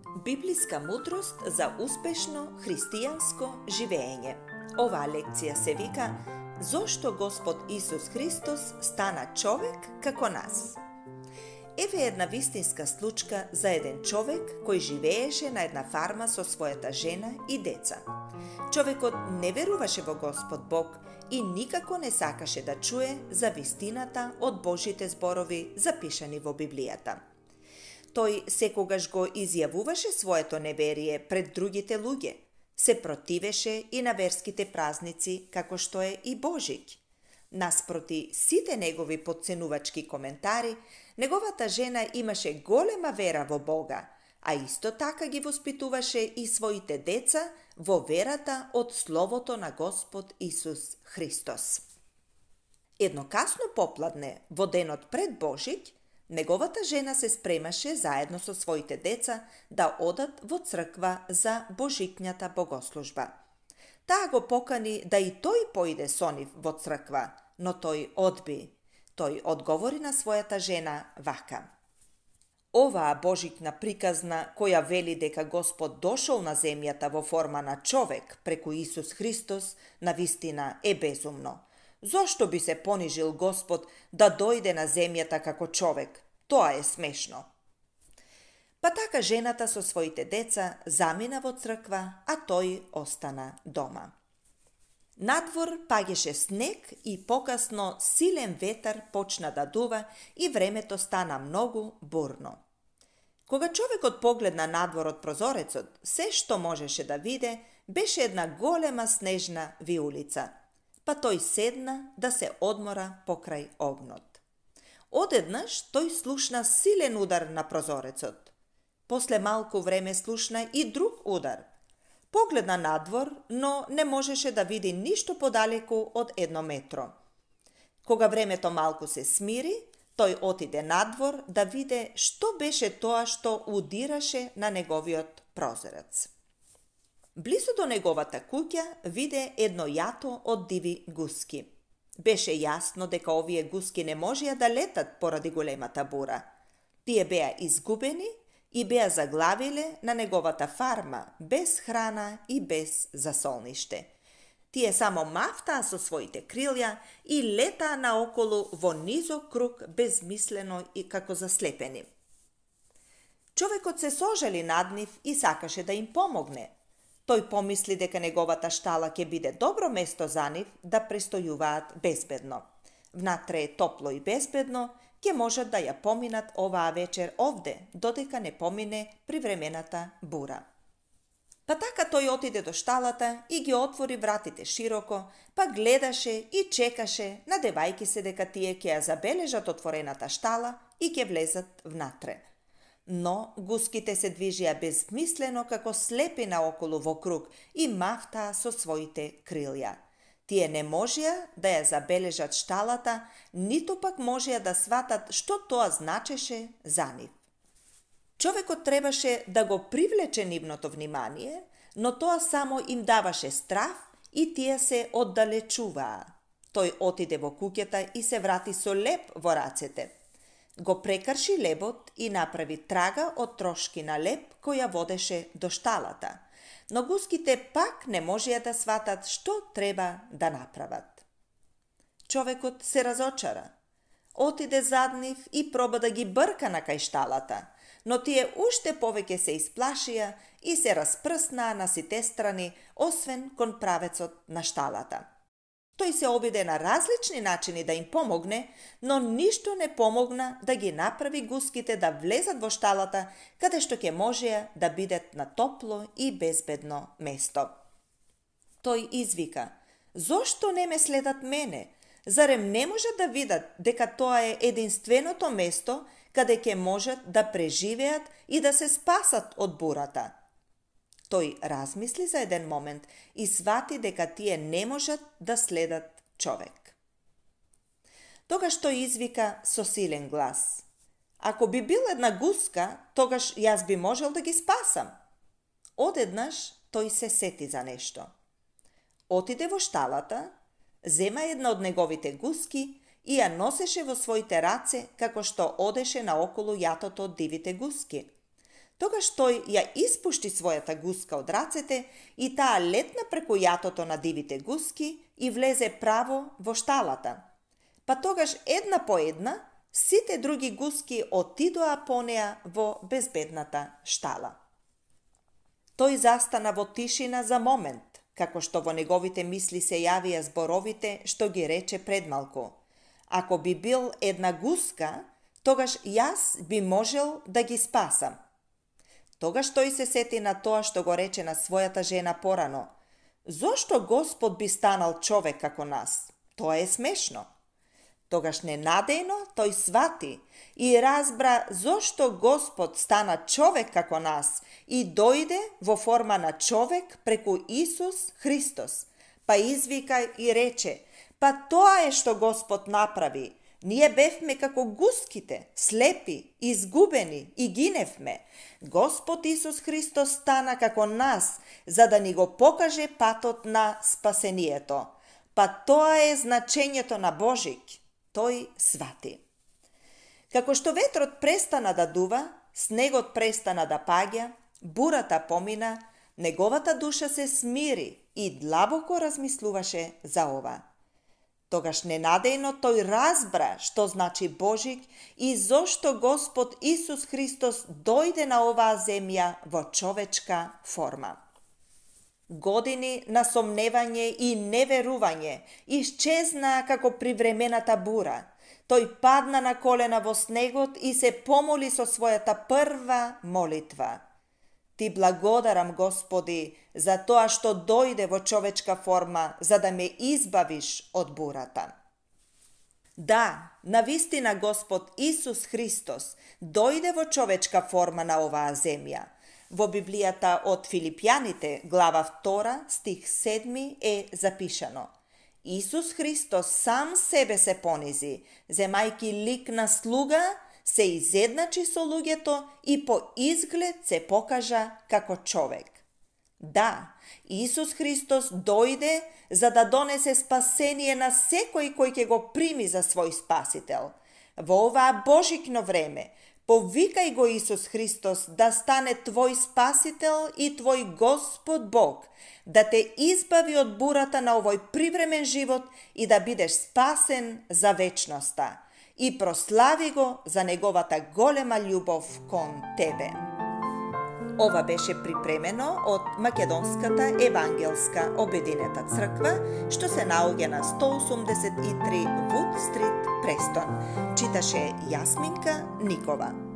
Библиска мудрост за успешно христијанско живење. Оваа лекција се вика Зошто Господ Исус Христос стана човек како нас? Еве една вистинска случка за еден човек кој живееше на една фарма со својата жена и деца. Човекот не веруваше во Господ Бог и никако не сакаше да чуе за вистината од Божите зборови запишани во Библијата. Тој секогаш го изјавуваше своето неверие пред другите луѓе, се противеше и на верските празници како што е и Божик. Наспроти сите негови потценувачки коментари, неговата жена имаше голема вера во Бога, а исто така ги воспитуваше и своите деца во верата од Словото на Господ Исус Христос. Едно касно попладне, во денот пред Божик, неговата жена се спремаше заедно со своите деца да одат во црква за божикњата богослужба. Таа го покани да и тој поиде со нив во црква, но тој одби. Тој одговори на својата жена вака: Оваа божикна приказна која вели дека Господ дошол на земјата во форма на човек преку Исус Христос, навистина е безумно. Зошто би се понижил Господ да дојде на земјата како човек? Тоа е смешно. Па така жената со своите деца замина во црква, а тој остана дома. Надвор паѓаше снег и покасно силен ветар почна да дува и времето стана многу бурно. Кога човекот погледна надвор од прозорецот, се што можеше да виде беше една голема снежна виулица. Па тој седна да се одмора покрај огнот. Одеднаш тој слушна силен удар на прозорецот. После малку време слушна и друг удар. Погледна надвор, но не можеше да види ништо подалеку од 1 метро. Кога времето малку се смири, тој отиде надвор да виде што беше тоа што удираше на неговиот прозорец. Близо до неговата куќа виде едно јато од диви гуски. Беше јасно дека овие гуски не можеа да летат поради големата бура. Тие беа изгубени и беа заглавиле на неговата фарма, без храна и без засолниште. Тие само мафтаа со своите крилја и летаа наоколу во низок круг безмислено и како заслепени. Човекот се сожали над нив и сакаше да им помогне. Тој помисли дека неговата штала ќе биде добро место за нив да престојуваат безбедно. Внатре е топло и безбедно, ќе можат да ја поминат оваа вечер овде, додека не помине привремената бура. Па така тој отиде до шталата и ги отвори вратите широко, па гледаше и чекаше, надевајки се дека тие ќе ја забележат отворената штала и ќе влезат внатре. Но гуските се движија безмислено како слепи наоколу во круг и мафтаа со своите крилја. Тие не можеа да ја забележат шталата, ниту пак можеа да сватат што тоа значеше за нив. Човекот требаше да го привлече нивното внимание, но тоа само им даваше страв и тие се оддалечуваа. Тој отиде во куќата и се врати со леб во рацете. Го прекрши лебот и направи трага од трошки на леб која водеше до шталата. Но гуските пак не можеа да сватат што треба да направат. Човекот се разочара. Отиде зад нив и проба да ги брка на кај шталата, но тие уште повеќе се исплашија и се распрснаа на сите страни, освен кон правецот на шталата. Тој се обиде на различни начини да им помогне, но ништо не помогна да ги направи гуските да влезат во шталата, каде што ќе можеа да бидат на топло и безбедно место. Тој извика: Зошто не ме следат мене? Зарем не можат да видат дека тоа е единственото место каде ќе можат да преживеат и да се спасат од бурата? Тој размисли за еден момент и свати дека тие не можат да следат човек. Тогаш тој извика со силен глас: Ако би бил една гуска, тогаш јас би можел да ги спасам. Одеднаш тој се сети за нешто. Отиде во шталата, зема една од неговите гуски и ја носеше во своите раце како што одеше наоколу јатото од дивите гуски. Тогаш тој ја испушти својата гуска од рацете и таа летна преку јатото на дивите гуски и влезе право во шталата. Па тогаш една по една сите други гуски отидоа по неа во безбедната штала. Тој застана во тишина за момент, како што во неговите мисли се јавија зборовите што ги рече предмалку. Ако би бил една гуска, тогаш јас би можел да ги спасам. Тогаш тој се сети на тоа што го рече на својата жена порано. Зошто Господ би станал човек како нас? Тоа е смешно. Тогаш ненадејно тој свати и разбра зошто Господ стана човек како нас и дојде во форма на човек преку Исус Христос. Па извика и рече, па тоа е што Господ направи. Ние бевме како гуските, слепи, изгубени и гиневме. Господ Исус Христос стана како нас, за да ни го покаже патот на спасението. Па тоа е значењето на Божик. Тој свати. Како што ветрот престана да дува, снегот престана да паѓа, бурата помина, неговата душа се смири и длабоко размислуваше за ова. Тогаш ненадејно тој разбра што значи Божик и зошто Господ Исус Христос дојде на оваа земја во човечка форма. Години на сомневање и неверување исчезнаа како привремената бура. Тој падна на колена во снегот и се помоли со својата прва молитва. Ти благодарам, Господи, за тоа што дојде во човечка форма, за да ме избавиш од бурата. Да, навистина Господ Исус Христос дојде во човечка форма на оваа земја. Во Библијата од Филипјаните, глава 2, стих 7 е запишано. Исус Христос сам себе се понизи, земајки лик на слуга, се изедначи со луѓето и по изглед се покажа како човек. Да, Исус Христос дојде за да донесе спасение на секој кој ќе го прими за свој спасител. Во оваа Божикно време, повикај го Исус Христос да стане твој спасител и твој Господ Бог, да те избави од бурата на овој привремен живот и да бидеш спасен за вечноста. И прослави го за неговата голема љубов кон тебе. Ова беше припремено од Македонската евангелска обединета црква, што се наоѓа на 183 Вуд Стрит, Престон. Читаше Јасминка Никова.